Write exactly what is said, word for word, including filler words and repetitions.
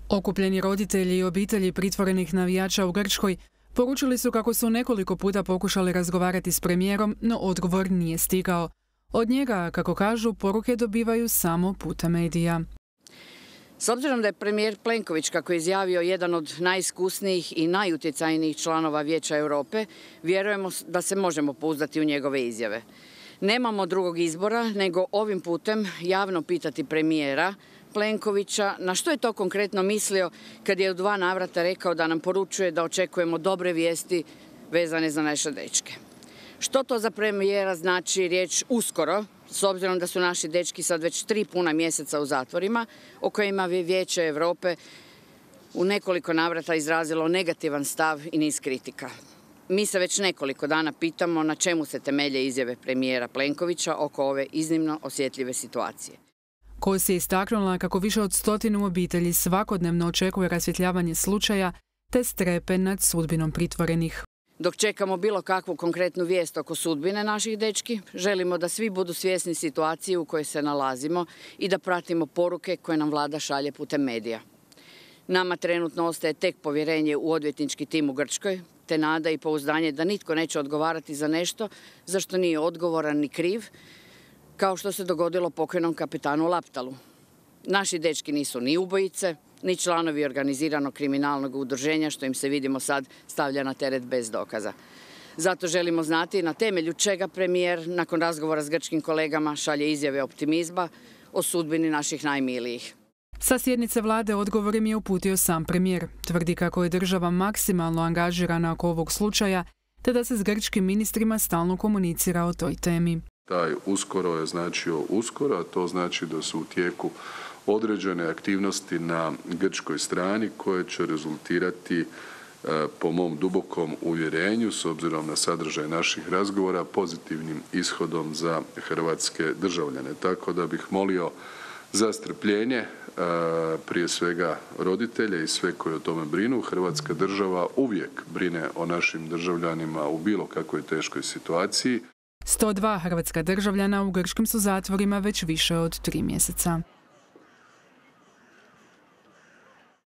Okupljeni roditelji i obitelji pritvorenih navijača u Grčkoj poručili su kako su nekoliko puta pokušali razgovarati s premijerom, no odgovor nije stigao. Od njega, kako kažu, poruke dobivaju samo putem medija. S obzirom da je premijer Plenković, kako je izjavio, jedan od najiskusnijih i najutjecajnijih članova Vijeća Europe, vjerujemo da se možemo pouzdati u njegove izjave. Nemamo drugog izbora nego ovim putem javno pitati premijera Plenkovića na što je to konkretno mislio kad je u dva navrata rekao da nam poručuje da očekujemo dobre vijesti vezane za naše dečke. Što to za premijera znači riječ uskoro, s obzirom da su naši dečki sad već tri puna mjeseca u zatvorima, o kojima je Vijeće Europe u nekoliko navrata izrazilo negativan stav i niz kritika. Mi se već nekoliko dana pitamo na čemu se temelje izjave premijera Plenkovića oko ove iznimno osjetljive situacije. Kos je istaknula kako više od stotinu obitelji svakodnevno očekuje rasvjetljavanje slučaja te strepe nad sudbinom pritvorenih. Dok čekamo bilo kakvu konkretnu vijest oko sudbine naših dečki, želimo da svi budu svjesni situacije u kojoj se nalazimo i da pratimo poruke koje nam vlada šalje putem medija. Nama trenutno ostaje tek povjerenje u odvjetnički tim u Grčkoj, te nada i pouzdanje da nitko neće odgovarati za nešto za što nije odgovoran ni kriv, kao što se dogodilo pokojnom kapetanu Laptalu. Naši dečki nisu ni ubojice, ni članovi organiziranog kriminalnog udruženja, što im se, vidimo sad, stavlja na teret bez dokaza. Zato želimo znati na temelju čega premijer, nakon razgovora s grčkim kolegama, šalje izjave optimizma o sudbini naših najmilijih. Sa sjednice vlade odgovor im je uputio sam premijer. Tvrdi kako je država maksimalno angažirana oko ovog slučaja, te da se s grčkim ministrima stalno komunicira o toj temi. Taj uskoro je značio uskoro, a to znači da su u tijeku određene aktivnosti na grčkoj strani koje će rezultirati, po mom dubokom uvjerenju, s obzirom na sadržaj naših razgovora, pozitivnim ishodom za hrvatske državljane. Tako da bih molio za strpljenje, prije svega roditelje i sve koji o tome brinu. Hrvatska država uvijek brine o našim državljanima u bilo kakvoj teškoj situaciji. sto dva hrvatska državljana u grčkim su zatvorima već više od tri mjeseca.